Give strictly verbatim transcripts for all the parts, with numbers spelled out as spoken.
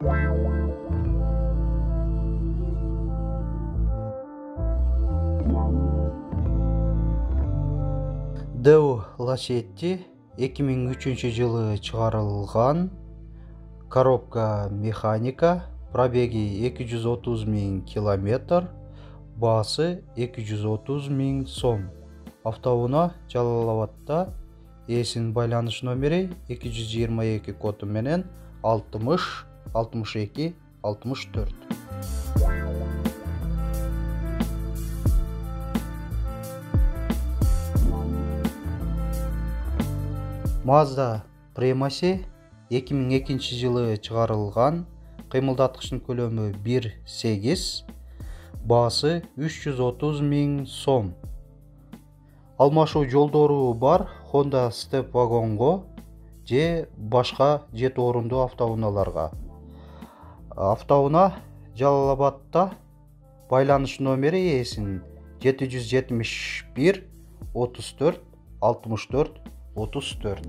Deo Lacetti эки миң үчүнчү жылы чыгарылган коробка механика, пробеги эки жүз отуз миң километр, баасы эки жүз отуз миң сом. Автоунаа Жалал Абадта, ээсинин байланыш номери эки жүз жыйырма эки коду менен алтымыш алтымыш эки алтымыш төрт. Mazda Premacy эки миң экинчи жылы чыгарылган, кыймылдаткычтын көлөмү бир сегиз, баасы үч жүз отуз миң сом. Алмашуу жолдору бар Honda Step вагонго же башка жети орундуу автоунааларга. Автоунаа Жалал Абадта, байланыш номери ээсинин жети жүз жетимиш бир отуз төрт алтымыш төрт отуз төрт.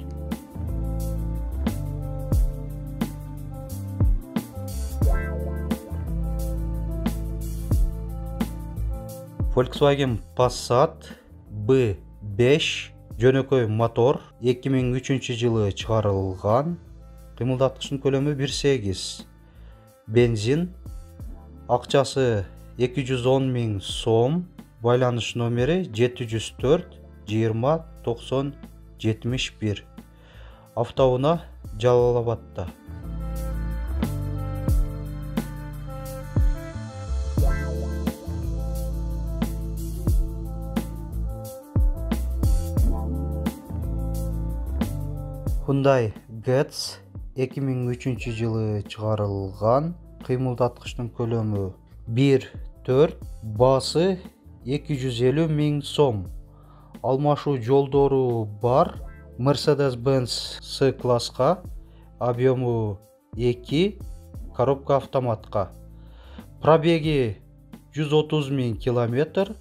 Volkswagen Passat би беш жөнөкөй мотор, эки миң үчүнчү жылы чыгарылган, кыймылдаткычтын көлөмү бир сегиз, бензин, акчасы эки жүз он миң сом, байланыш номери жети жүз төрт жыйырма токсон жетимиш бир. Автоунаа Жалал Абадта. Hyundai Getz эки миң үчүнчү жылы чыгарылган, кыймылдаткычтын көлөмү бир төрт, баасы эки жүз элүү миң сом. Алмашуу жолдору бар Mercedes-Benz C-класска, объему эки, коробка автоматка. Пробеги жүз отуз миң километр,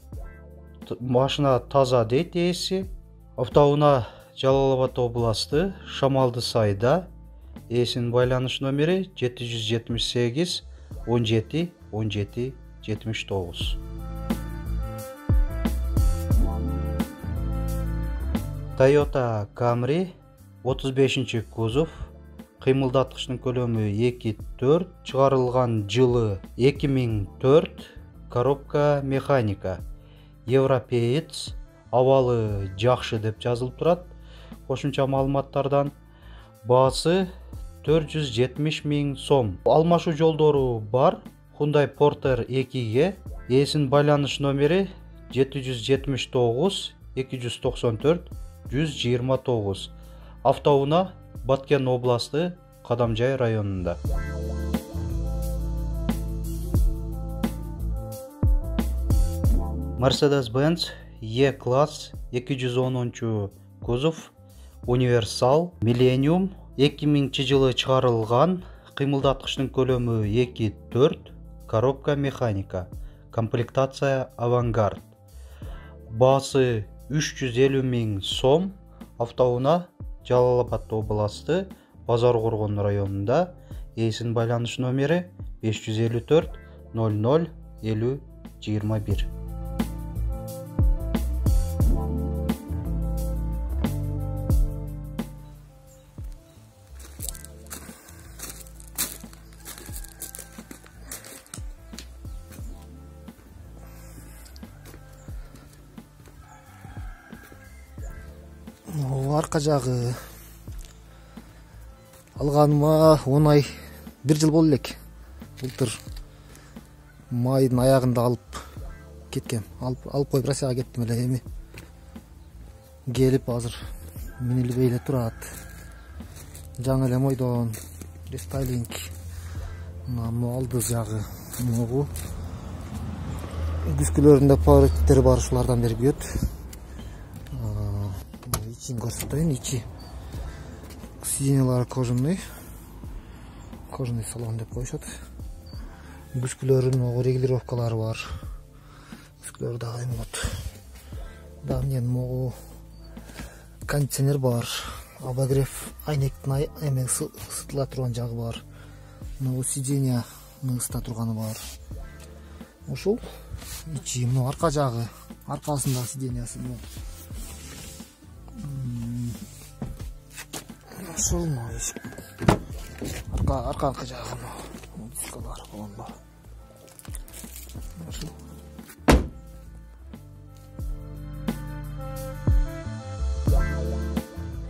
машина таза дейт ээси. Автоунаа Жалал Абад областы, Шамалды сайда, ээсинин байланыш номери жети жүз жетимиш сегиз он жети он жети жетимиш тогуз. Toyota Camry отуз бешинчи кузов, кыймылдаткычтын көлөмү эки төрт, чыгарылган жылы эки миң төрт, коробка механика. Европеец, абалы жакшы деп жазылып турат. Кошумча маалыматтардан баасы төрт жүз жетимиш миң сом. Алмашуу жолдору бар Hyundai Porter экиге, ээсинин байланыш номери жети жүз жетимиш тогуз эки жүз токсон төрт жүз жыйырма тогуз. Автоунаа Баткен областы, Кадамжай районунда. Mercedes-Benz E-класс эки жүз онунчу кузов, универсал, Millennium, эки миңинчи жылы чыгарылган, кыймылдаткычтын көлөмү эки төрт, коробка механика, комплектация Авангард. Баасы үч жүз элүү миң сом. Автоунаа Жалал Абад областы, Базар Коргон районунда, ээсинин байланыш номери беш жүз элүү төрт ноль ноль элүү жыйырма бир. Арка жагы алганыма он ай, бир жыл болду элек. Былтыр майдын аягында алып кеткем. Алып алып коюп Россияга кеттим эле. Эми келип азыр минилбей эле турат. Жаңы эле мойдон рестайлинг. Мына молдуз жагы могу. Күскөлөрүндө пауреттери бар, ушулардан бери күйөт. Ичин көрсөтөйүн, ичи сиденьялары кожаный. Кожаный салон деп коюшат. Күскөлөрүнүн регулировкалары бар. Күскөлөр дагы эмот. Дагы мен могу кондиционер бар. Обогрев айнектин эме сытыла турган жагы бар. мына сиденья ныгыста турганы бар. Ошол ичи мына арка жагы, аркасындагы сиденьясы мына. Ошол арка арка жагы мына дискалар болгон бар. Ошол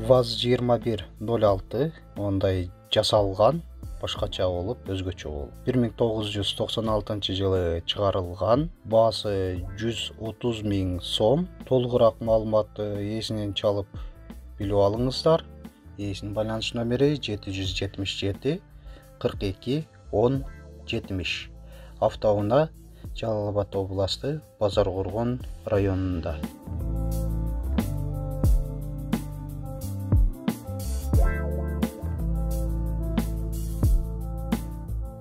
ВАЗ жыйырма бир ноль алты ондай жасалган, башкача болуп, өзгөчө болуп. бир миң тогуз жүз токсон алтынчы жылы чыгарылган. Баасы жүз отуз миң сом. Толугураак маалыматты ээсинен чалып билип алыңыздар. Ээсинин байланыш номери жети жүз жетимиш жети кырк эки он жетимиш. Автоунаа, Жалал Абад областы, Базар Коргон районунда.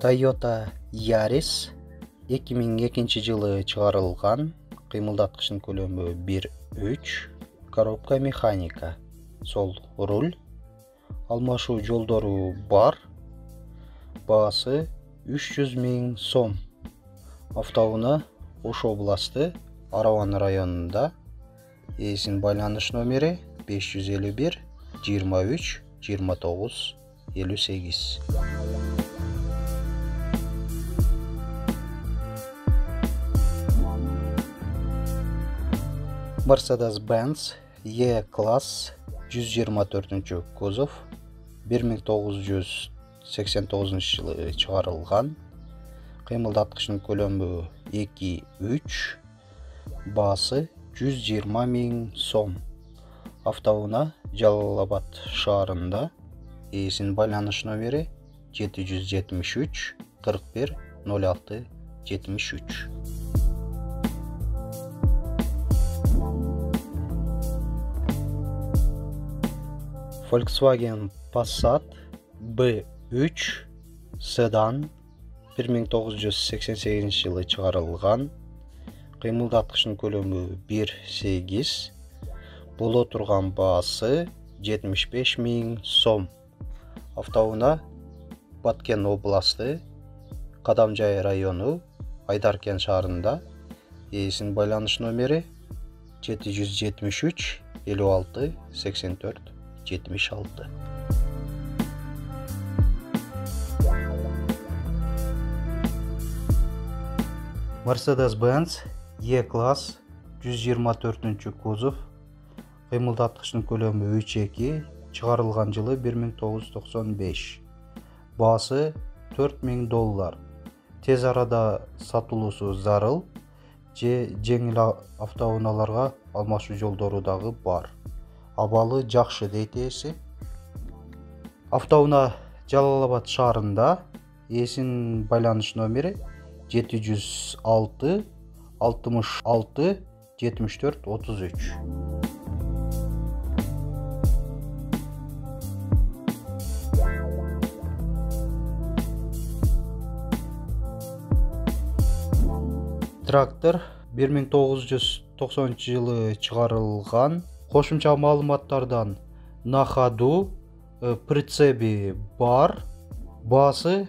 Toyota Yaris эки миң экинчи жылы чыгарылган. Кыймылдаткычтын көлөмү бир үч, коробка механика, сол руль, алмашуу жолдору бар. Баасы үч жүз миң сом. Автоунаа, Ош областы, Араван районунда. Ээсинин байланыш номери беш жүз элүү бир жыйырма үч жыйырма тогуз элүү сегиз. Mercedes-Benz E-класс жүз жыйырма төртүнчү кузов, бир миң тогуз жүз сексен тогузунчу жылы чыгарылган. Кыймылдаткычтын көлөмү эки үч, баасы жүз жыйырма миң сом. Автоунаа, Жалал Абад шаарында. Ээсинин байланыш номери жети жүз жетимиш үч кырк бир ноль алты жетимиш үч. Volkswagen Passat бэ үч седан, бир миң тогуз жүз сексен сегизинчи жылы чыгарылган. Кыймылдаткычтын көлөмү бир сегиз, боло турган баасы жетимиш беш миң сом. Автоунаа, Баткен областы, Кадамжай району, Айдаркен шаарында. Ээсинин байланыш номери жети жүз жетимиш үч элүү алты сексен төрт жетимиш алты. Mercedes-Benz E-класс жүз жыйырма төртүнчү кузов, кыймылдаткычтын көлөмү үч эки, чыгарылган жылы бир миң тогуз жүз токсон беш. Баасы төрт миң доллар. Тез арада сатылуусу зарыл, же жеңил автоунааларга алмашуу жолдору дагы бар. Абалы жакшы дейт ээси. Автоунаа, Жалал Абад шаарында. Ээсинин байланыш номери жети жүз алты алтымыш алты жетимиш төрт отуз үч. Трактор бир миң тогуз жүз токсонунчу жылы чыгарылган. Кошумча маалыматтардан на ходу прицеби бар. Баасы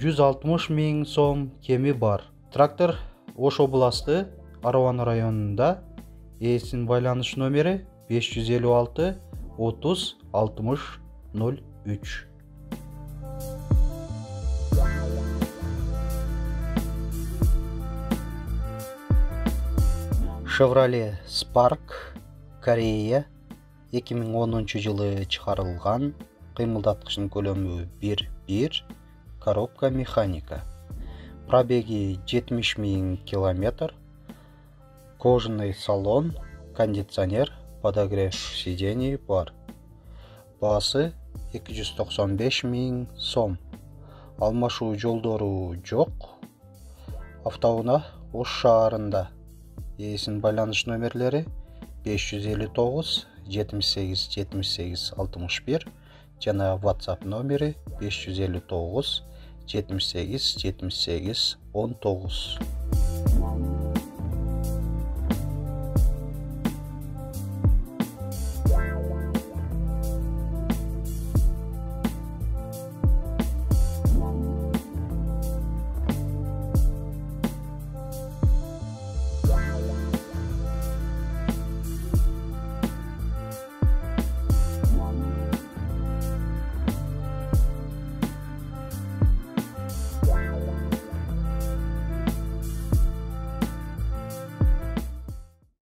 жүз алтымыш миң сом, кеми бар. Трактор Ош областы, Араван районунда. Ээсинин байланыш номери беш жүз элүү алты отуз алтымыш ноль үч. Chevrolet Spark, Корея, эки миң онунчу жылы чыгарылган. Кыймылдаткычтын көлөмү бир бир, коробка механика. Пробеги жетимиш миң километр. Кожаный салон, кондиционер, подогрев сидений бар. Баасы эки жүз токсон беш миң сом. Алмашуу жолдору жок. Автоунаа, Ош шаарында. Ээсинин байланыш номерлери беш жүз элүү тогуз жетимиш сегиз жетимиш сегиз алтымыш бир жана WhatsApp номери беш жүз элүү тогуз жетимиш сегиз жетимиш сегиз он тогуз.